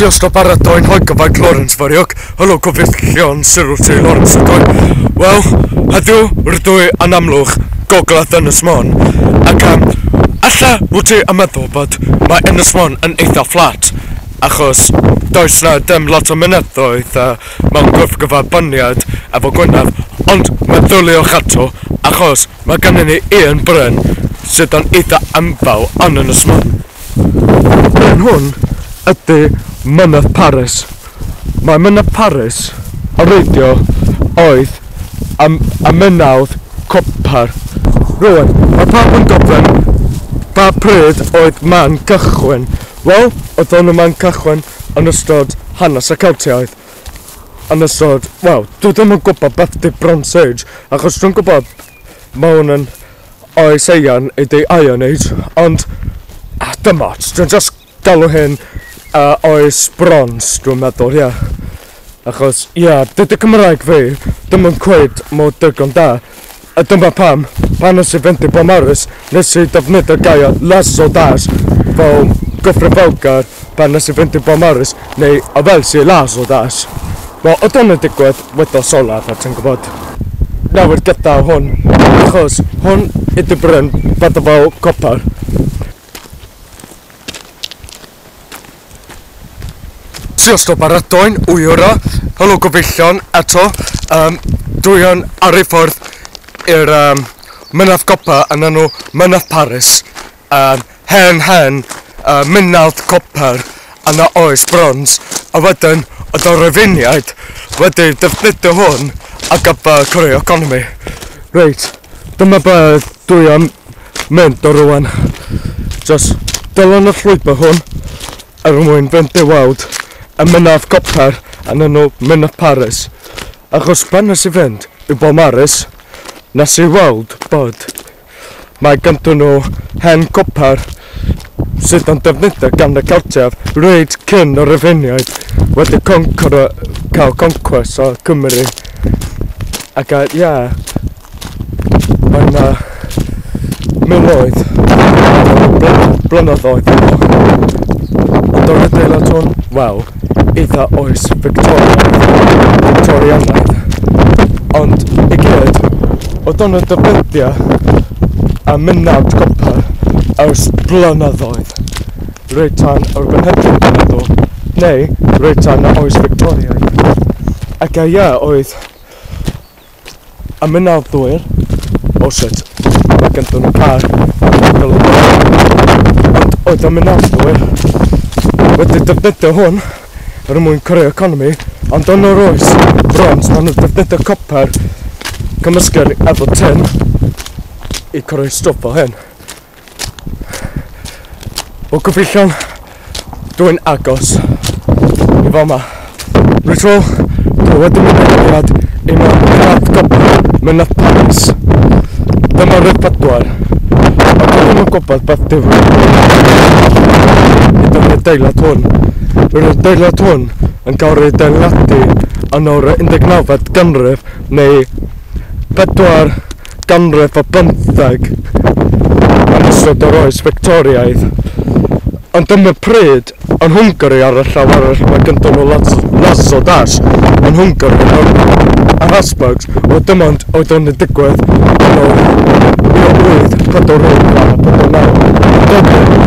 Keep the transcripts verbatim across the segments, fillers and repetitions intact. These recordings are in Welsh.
Sios o baratoi'n hoegyfaig Lawrence Fariog. Helo gyfeillion, Cyril T. Lawrence ydw i. Wel, heddiw rydw i yn Amlwch, gogledd Ynys Môn. Ac um, alla wyt ti yn meddwl bod mae Ynys Môn yn eitha fflat, achos does na dim lot o mynyddoedd uh, mewn gwrthgyferbyniad efo Gwynedd, ond meddyliwch ato, achos mae gennym ni un bryn sydd yn eitha enfawr yn Ynys Môn. Bryn hwn ydy Mynydd Parys. Mae Mynydd Parys o reidio oedd am, am mynawdd copar. Rwan, mae pawb yn gofyn ba pryd oedd man cychwyn. Wel, oedd o'n y man cychwyn yn ystod hanes y Celtiaidd. Yn ystod, wel, dwi ddim yn gwybod beth di Bronze Age, achos dwi'n gwybod mae hwn yn oes Eian ydy Iron Age, ond ah, dim ots, dwi'n just galw hyn uh, oes bronze, dwi'n meddwl, ie. Yeah. Achos, ie, yeah, dydy Cymraeg fi ddim yn cweith mor digon da. A dyma pam, pan nes i fynd i Beaumaris, nes i defnyddio gair las o das fel gyfrifoldeb pan nes i fynd i Beaumaris, neu a fel si las o das. Wel, oedd hwn yn digwydd wythnos olaf, a ti'n gwybod. Nawr gyda hwn, achos hwn ydy bryn bydda fel copar. Sios o baratoi'n wyra, helo gyfeillion eto, um, dwi yn ar ei ffordd i'r um, Mynydd Copa yn enw Mynydd Parys, um, hen hen uh, mynawdd copar yn y oes brons, a wedyn oedd y Rufeiniaid wedi defnyddio hwn ar gyfer creu economi. Reit, dyma be dwi am mynd o rwan. Just dilyn y llwybr hwn er mwyn fynd i weld y Mynydd Copar yn enw Mynydd Parys. Achos pan nes i fynd i Beaumaris, nes i weld bod mae ganddyn nhw hen copar sydd yn defnyddio gan y Celtiaid reit cyn y Rufeiniaid wedi concro, cael concwest o Cymru. Ac ie, yeah, mae yna miloedd o blynyddoedd yn ôl. Ond o'r adeilad hwn, wel, eitha oes Victoriaidd, Victorianaidd. Ond i gyd, oedd o'n y defnyddio a mynawd copar ers blynyddoedd. Reit tan yr bynheddion, dwi'n meddwl, neu reit tan y oes Victoriaidd. Ac a ie, oedd y mynawddwyr, oh shit, mae ganddyn nhw car, ond oedd y mynawddwyr wedi defnyddio hwn er mwyn creu economi, ond yn yr oes brons, maen nhw'n defnyddio copar cymysgu efo tin i creu stwff fel hyn. O gyfeillion, dwi'n agos i fama. Reit wel, dwi wedi mynd i i mewn Mynydd Copar, Mynydd Parys. Dyma rhif pedwar. A dwi ddim yn gwybod beth di ydy'r adeilad hwn. Yr adeilad hwn yn cael ei adeiladu yn o'r undeg nawfed ganrif neu pedwar ganrif o bymtheg yn ystod yr oes Victoriaidd. Ond dyma pryd yn Hwngari ar y llaw arall mae ganddyn nhw las o das yn Hwngari a Habsburgs, oedd dim ond oedd o'n digwydd yn o'r mil wyth pedwar wyth a pedwar naw. Dyma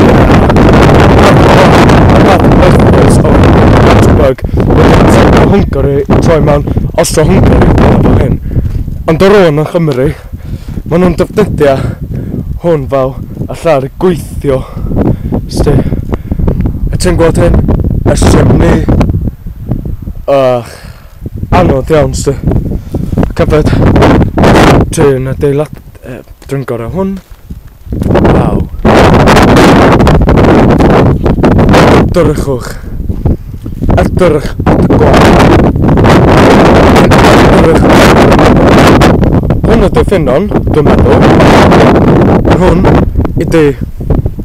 o Habsburg wedi troi Hwngari i troi mewn Austro-Hwngari fel hyn. Ond ar ôl yn Nghymru, maen nhw'n defnyddio hwn fel y lle gweithio. Sti, a ti'n gweld hyn? Y chimney. Ach, anodd iawn, sti. Ac hefyd, dwi'n adeilad, eh, dwi'n gorau hwn. Waw. Edrychwch. Edrych at y gwaith. Edrych. Hwn ydy ffynnon, dwi'n meddwl. Hwn ydy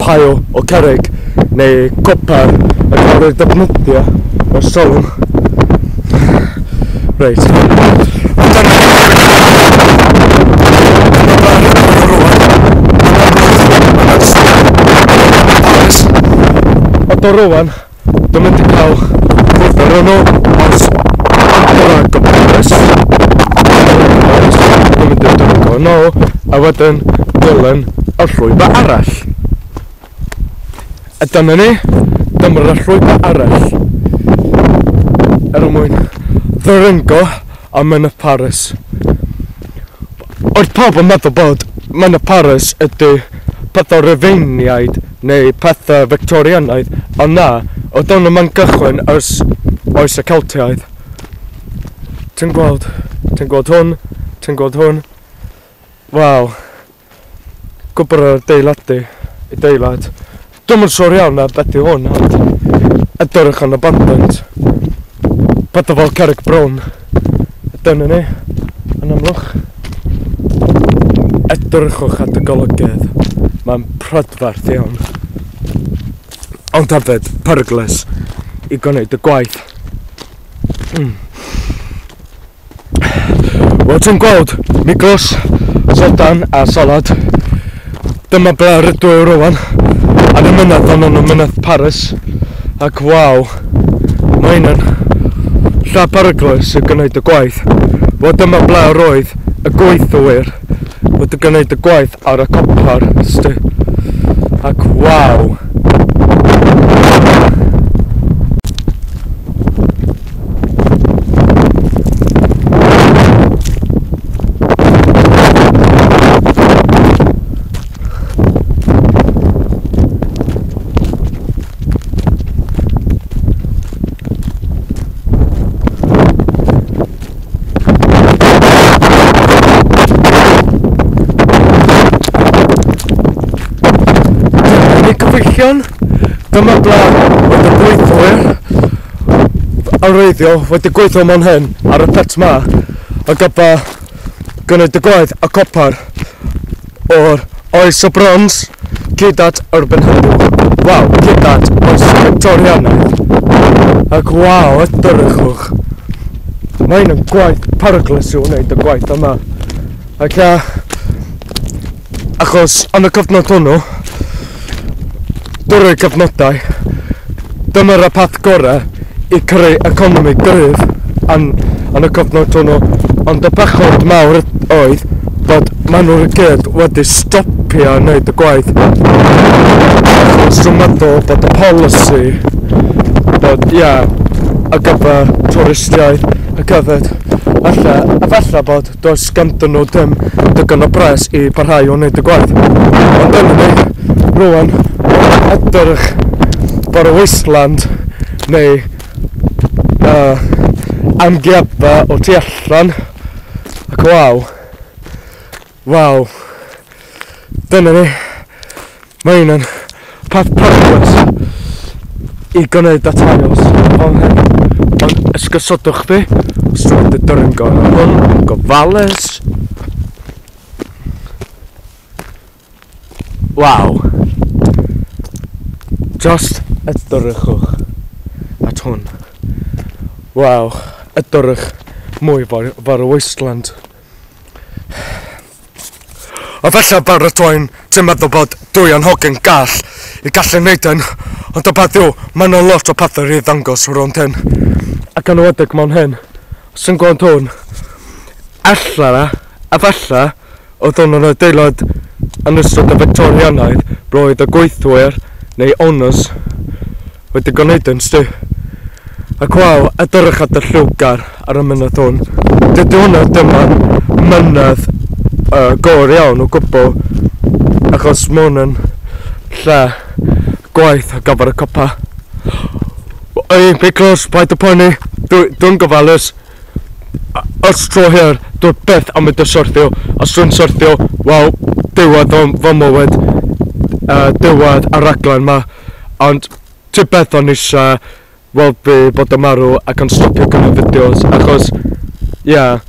paio o cerrig neu copar yn cael ei defnyddio o'r solwm. Reit. Ond o rwan, Dwi'n mynd i cael cwrdd ar nhw os yn Paris. Dwi'n mynd i dringo nôl a wedyn dilyn y llwybr arall. A dyna ni, dyma'r llwybr arall er mwyn ddringo a Mynydd Parys. Oedd pawb yn meddwl bod Mynydd Parys ydy pethau Rufeiniaid neu pethau Victorianaidd, ond na, oedd hwn yma'n gychwyn ers oes y Celtiaidd. Ti'n gweld, ti'n gweld hwn, ti'n gweld hwn. Waw, gwybod yr adeiladu, adeilad. Dwi'm yn siŵr iawn na beth yw hwn, ond edrych yn abundant. Pethau fel cerrig brown. Dyna ni, yn amlwch. Edrychwch at y golygydd. Mae'n prydferth iawn. Ond hefyd, peryglus i gwneud y gwaith. Mm. Wel, ti'n gweld, Miglos, Sodan a Solad. Dyma ble rydw i rwan. Ar y mynydd ond yn y mynydd Parys. Ac waw, mae hyn yn lle peryglus i gwneud y gwaith. Wel, dyma ble roedd y gweithwyr wedi gwneud y gwaith ar y copar, sti. Ac waw. Cyfeillion, dyma ble oedd y gweithwyr arwyddiol wedi gweithio mewn hyn ar y pet ma a gyda gwneud y gwaith y copar o'r oes o brons gyd at erbyn heddiw. Waw, gyd at oes Victorianaidd. Ac waw, edrychwch. Mae hyn yn gwaith peryglus i'w wneud y gwaith yma. Ac ia, achos yn y cyfnod hwnnw, drwy'r cyfnodau, dyma'r path gorau i creu economi gryf yn, yn y cyfnod hwnnw, ond y bechod mawr oedd bod maen nhw'n gyd wedi stopio wneud y gwaith. Achos dwi'n meddwl bod y polisi, bod ie, yeah, ar gyfer twristiaeth, ar gyfer, alla, a falle bod does ganddyn nhw dim digon o bres i parhau o wneud y gwaith. Ond dyna ni, rwan, edrych bod y wasteland neu uh, amgueddfa o tu allan. Ac waw, waw, dyna ni, mae hyn yn peth peryglus i gwneud y tiles fel hyn. Ond esgusodwch fi, os dwi'n mynd i dringo hwn yn gofalus. Waw. Just edrychwch at hwn. Waw, edrych mwy fawr y wasteland. A falle baratoi'n ti'n meddwl bod dwi yn hogyn gall i gallu wneud hyn, ond y peth yw, mae yna lot o pethau i ddangos rownd hyn. Ac yn enwedig mewn hyn, os ti'n gweld hwn, ella, a falle, oedd hwn yn adeilad yn ystod y Victorianaidd, roedd y gweithwyr neu owners wedi gwneud yn sti. Ac waw, edrych at y lliwgar ar y mynydd hwn. Dydy hwnna ddim yn mynydd uh, gor iawn o gwbl, achos mae hwn yn lle gwaith ar gyfer y copa. Ei, be close, paid â poeni, dwi'n dwi gofalus. Os tro hir, dwi byth am mynd i syrthio. Os dwi'n syrthio, wel, diwedd fy mywyd, uh, diwedd y raglen ma. Ond ti beth o'n eisiau weld fi bod yn marw ac yn stopio gwneud fideos, achos, ie, yeah,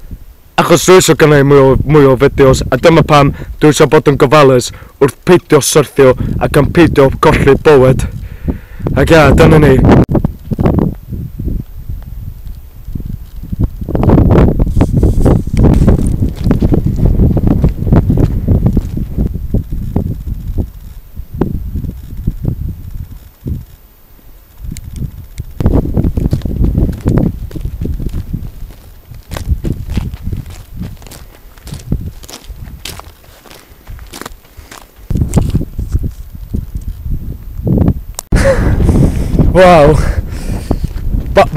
achos dwi eisiau gwneud mwy o, mwy o fideos, a dyma pam dwi eisiau bod yn gofalus wrth peidio syrthio ac yn peidio colli bywyd. Ac ie, yeah, dyna ni. Waw.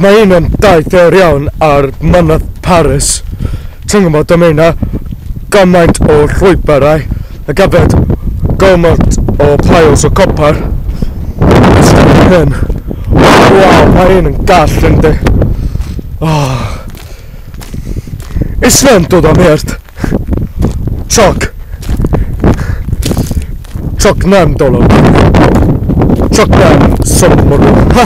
Mae un yn daith eur iawn ar mynydd Parys. Ti'n gwybod, dyma yna gymaint o llwybrau ac hefyd gymaint o piles o copper. Hyn. Waw, mae un yn gall yndi. Oh. Islam dod am hert. Csak. Csak nem dolog. Csak nem szomorú. Ha!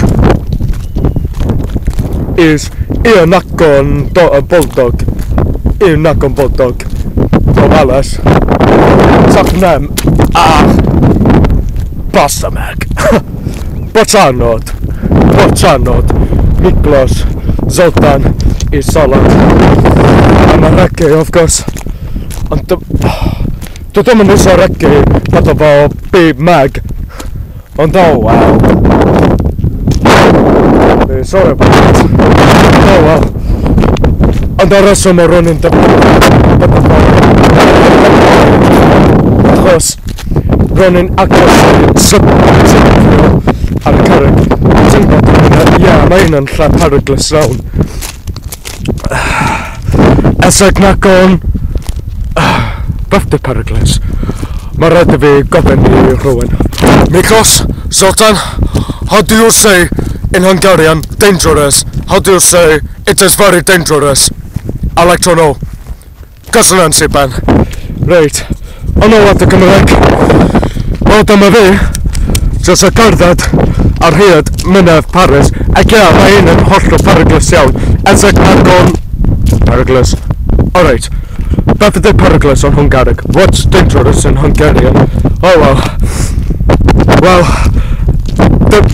És én nagyon boldog. Én nagyon boldog. A válasz. Csak nem. Ah! Bassza meg! Bocsánat! Bocsánat! Miklós, Zoltán és Salat. I'm a reggae, of course. Ond dwi ddim yn iwsio reggae fatha fel Big Mag. Ond oh wow. Sorry about that. Oh well. Ond ar reswm o'r rhywun yn defnyddio achos ro'n i'n agos i sybio ar y cerrig. Ti'n gwybod, ie, mae un yn lle peryglus iawn. Eseg nagon beth di peryglus? Mae rhaid i fi gofyn i rhywun. Miklós, Zoltán, how do you say in Hungarian dangerous? How do you say it is very dangerous? I like to know. Köszönöm szépen. Reit, yn ôl at y Gymraeg. Wel, dyma fi, jyst y cerdded ar hyd mynydd Parys. Ac ie, mae un yn hollol peryglus iawn. Ezek nagon peryglus. Alright. Beth ydy peryglus yn Hwngareg? What's dangerous in Hungarian? Oh well. Wel,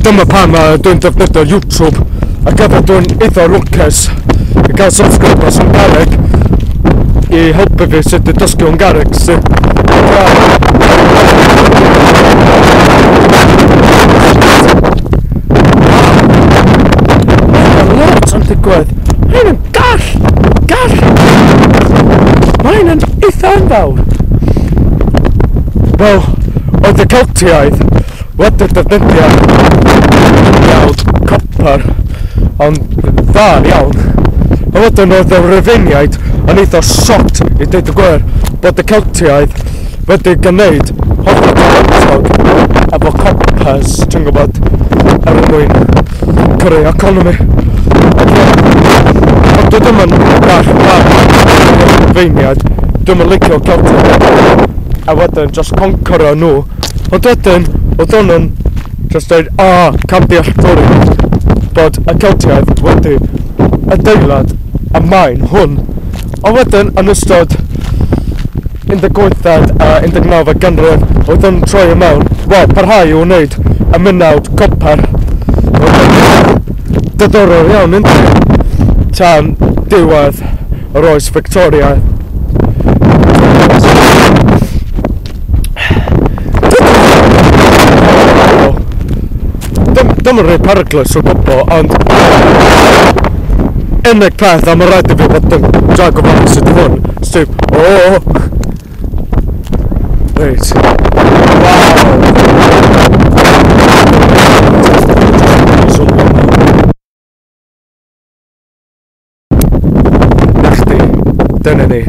dyma pam dwi'n defnyddio YouTube. Ac efo dwi'n eitha lwcus i gael subscribers Hwngareg i helpu fi sut i dysgu Hwngareg. So, mae'n lot yn digwydd. Mae'n yn gall! Gall! Mae'n yn eitha enfawr. Wel, oedd y Celtiaid wedi defnyddio iawn copper, ond dda iawn. A wedyn oedd y Rufeiniaid yn eitha shocked i dweud y gwir bod y Celtiaid wedi gwneud hollol talentog efo coppers, ti'n gwybod, er mwyn creu economi. Ond dwi ddim yn gall barn Rufeiniaid, dwi'm yn licio Celtiaid, a wedyn just conquero nhw. Ond wedyn, oedd nhw'n just dweud, ah, camddealltwriaeth bod y Celtiaid wedi adeilad y maen hwn. Ond wedyn, yn ystod un deg wythfed a un deg nawfed ganrif, oedd yn troi i mewn, wel, parhau i wneud y mynawd copper. Diddorol iawn, yndi? Tan diwedd yr oes Victoria. Dim yn rhoi peryglus o gwbl, ond unig peth am y rhaid i fi bod yn drag o fan sydd hwn, sef, o! Reit. Waw! Na chdi, dyna ni.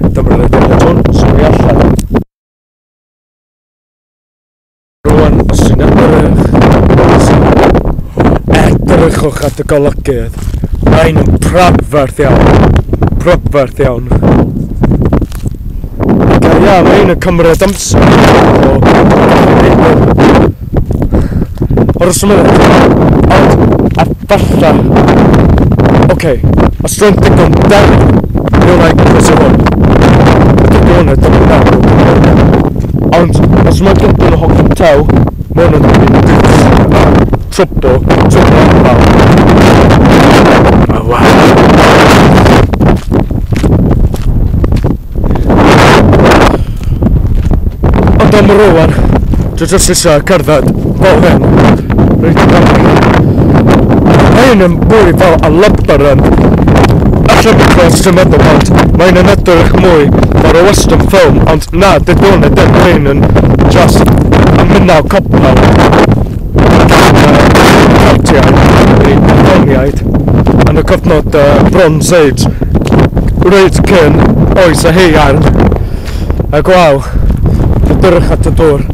Dyma'r adeilad hwn, sori allan. Rwan, os ti'n edrych, edrychwch at y golygydd. Mae'n yn prydferth iawn. Prydferth iawn. Ac ia, mae'n yn cymryd amser. O'r ysmynydd. Ond, a falla... Oce, os dwi'n digon del, mi wna i croesi hwn. Ydy hwn yn digon del. Ond, os mae'n digon hogyn tew, mae hwn yn mynd i trwbl, trwbl enfawr. Oh, wow. Ond am rŵan, dwi jyst eisiau cerdded fel hyn, reit i fyny. Mae hyn yn mwy fel a labyrinth. Alla because ti'n meddwl bod mae'n yn edrych mwy fel a western film, ond na, dydy hwn ddim, mae hyn yn just a mynaw copper. Celtiaid neu Brythoniaid yn y cyfnod uh, Bronze Age, reit cyn oes y haearn. Ac waw, edrych at y dŵr.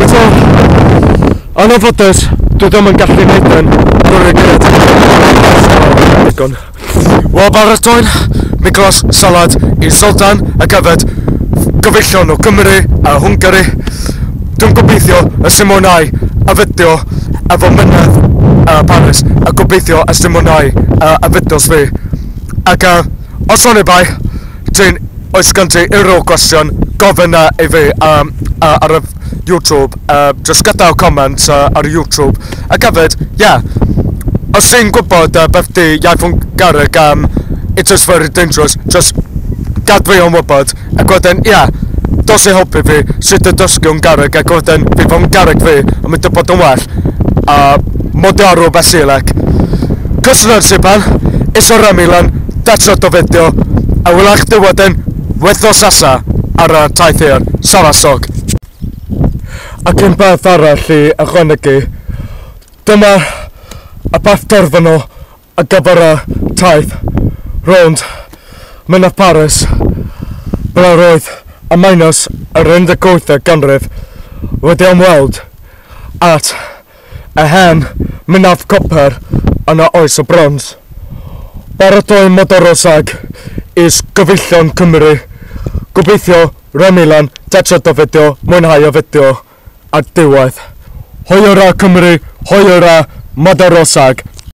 Eto, yn anffodus, dwi ddim yn gallu neud yn drwy'r gyd. Digon. Wel, baratoi'n Miklos salad i Zoltan ac hefyd gyfeillion o Cymru a Hwngari. Dwi'n gobeithio y sy'n mwynhau y fideo efo mynydd uh, Parys, a gobeithio y sy'n mwynhau uh, y fideos fi. Ac uh, os o'n i bai, ti'n oes gen ti unrhyw gwestiwn, gofyn uh, i fi um, uh, ar y YouTube, uh, just gadael comment uh, ar YouTube. Ac hefyd, yeah, os ti'n gwybod uh, beth di iaith Hwngareg, um, it is very dangerous, just gad fi o'n wybod, ac wedyn, ie, yeah, dos i helpu fi sut y dysgu Hwngareg, ac wedyn fydd Hwngareg fi yn mynd i bod yn well, a magyarul beszélek. Köszönöm szépen, és a remélem tetszett a videó, a wela i chdi wedyn wythnos nesa ar y taith hir. Szevasztok! Ac un peth arall i ychwanegu, dyma y peth terfynol ar gyfer y taith rownd Mynydd Parys, ble roedd y miners yr un deg wythfed ganrif wedi ymweld at y hen mynydd copr yn y oes o brons. Baratoi Magyarország is gyfeillion Cymru. Gobeithio remélem tetszett a videó, mwynhau y fideo ar diwedd. Hajrá Cymru, hajrá Magyarország!